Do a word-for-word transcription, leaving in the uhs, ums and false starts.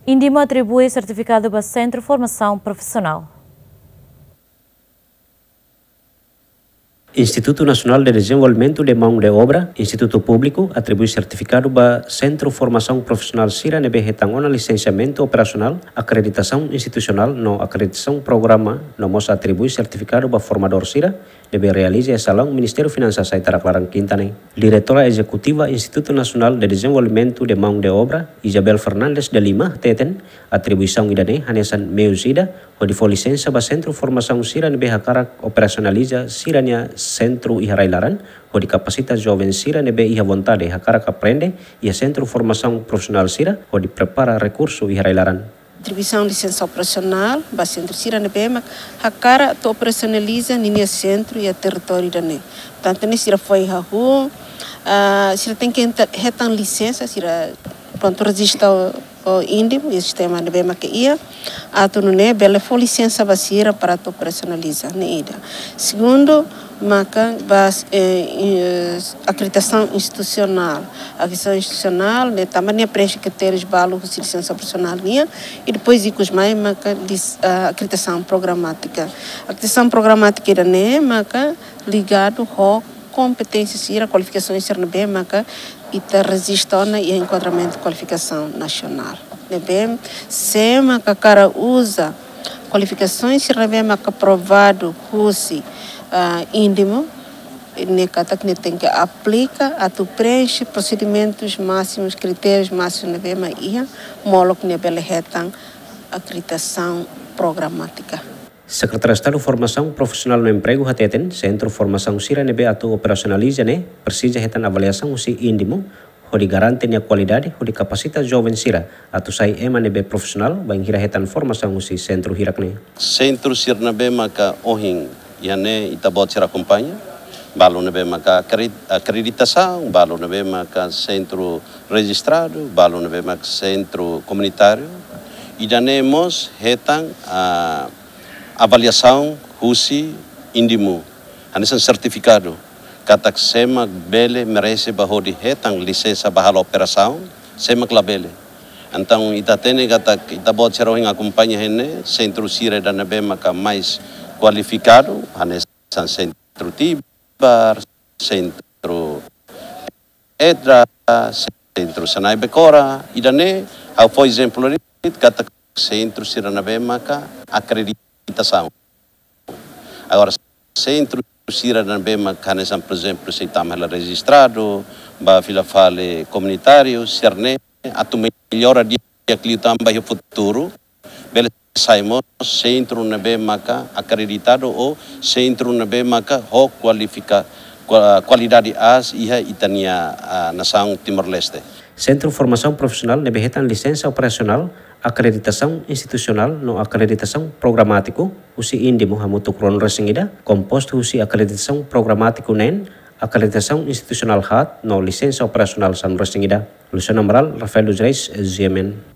INDIMO atribui sertifikadu ba Sentru Formasaun Profisionál. Institutu Nasionál de Dezenvolvimentu de Maun de Obra, institutu públiku, atribui sertifikadu ba Sentru Formasaun Profisionál sira ne'ebé hetan ona lisensiamentu operasionál, akreditasaun institusionál no akreditasaun programa, no mós atribui sertifikadu ba formadór sira ne'ebé realiza iha salaun Ministériu Finansas Aitarak laran kinta ne'e. Diretora Ezekutiva Institutu Nasionál de Dezenvolvimentu de Maun de Obra, Isabel Fernandes de Lima, hateten, atribuisaun ida-ne'e hanesan meius ida hodi fó lisensa ba sentru formasaun sira ne'ebé hakarak operasionaliza sira-nia sentru iha rai-laran, hodi kapasita joven sira ne'ebé iha vontade hakarak aprende iha sentru formasaun profisionál sira, hodi prepara rekursu iha rai-laran. Atribuisaun lisensa operasionál ba sentru sira ne'ebé mak hakarak atu operasionaliza ninia sentru iha territóriu ida-ne'e. Tantu ne'e sira foin hahú, ah, sira tenke enta-, hetan lisensa, sira prontu rejista ho, ho INDIMO, iha sistema ne'ebé mak iha, atu nune'e bele fó lisensa ba sira para atu operasionaliza, ne'e ida. Segundu, maka ba, eh, eh, akreditasaun institusionál. Akreditasaun institusionál ne'e tanba nia preenxe kritérius balu husi lisensa operasionál nian, i depois ikus mai maka lis-, ah, akreditasaun programátika. Akreditasaun programátika ida-ne'e maka ligadu ho kompeténsia sira, kualifikasaun sira ne'ebé maka ita rejista ona iha enkuadramentu kualifikasaun nasionál. Ne'ebé, se maka hakarak uza kualifikasaun sira ne'ebé maka aprovadu husi, ah, INDIMO, ne'e katak nia tenke aplika atu preenxe prosedimentus másimus, kritérius másimus ne'ebé mak iha, molok nia bele hetan akreditasaun programátika. Sekretáriu Estadu Formasaun Profisionál no Empregu hateten, sentru formasaun sira ne'ebé atu operasionaliza ne'e presiza hetan avaliasaun husi INDIMO, hodi garante nia kualidade, hodi kapasita joven sira atu sai ema ne'ebé profisionál bainhira hetan formasaun husi sentru hirak ne'e. Sentru sira ne'ebé maka ohin iha ne'e ita-boot sira akompaña, balu ne'ebé maka akre-, akreditasaun, balu ne'ebé maka sentru rejistradu, balu ne'ebé maka sentru komunitáriu, ida-ne'e mós hetan, ah, avaliasaun husi INDIMO, hanesan sertifikadu, katak sé mak bele merese ba hodi hetan lisensa ba halo operasaun, sé mak labele. Entaun ita hatene katak ita-boot sira ohin akompaña iha ne'e, sentru sira ida ne'ebé maka mais kualifikadu, hanesan sentru Tibar, sentru Edra, sentru Senai Becora, ida-ne'e, ha'u fó ezemplu de'it katak sentru sira ne'ebé maka akreditasaun. Agora, sentru sira ne'ebé maka hanesan, por ezemplu, sei tama hela rejistradu, ba fila fali komunitáriu, sira-ne'e atu mellora di'ak liután ba iha futuru, bele sai mós sentru ne'ebé maka akreditadu ou sentru ne'ebé maka ho kualifika-, kua-, kualidade aas iha ita-nia, ah, nasaun Timor-Leste. Sentru Formasaun Profisionál ne'ebé hetan lisensa operasionál, akreditasaun institusionál no akreditasaun programátiku husi INDIMO hamutuk ruanulu-resin-ida, kompostu husi akreditasaun programátiku neen, akreditasaun institusionál haat no lisensa operasionál sanulu-resin-ida. Luciano Amaral, Rafael dos Reis, G M N.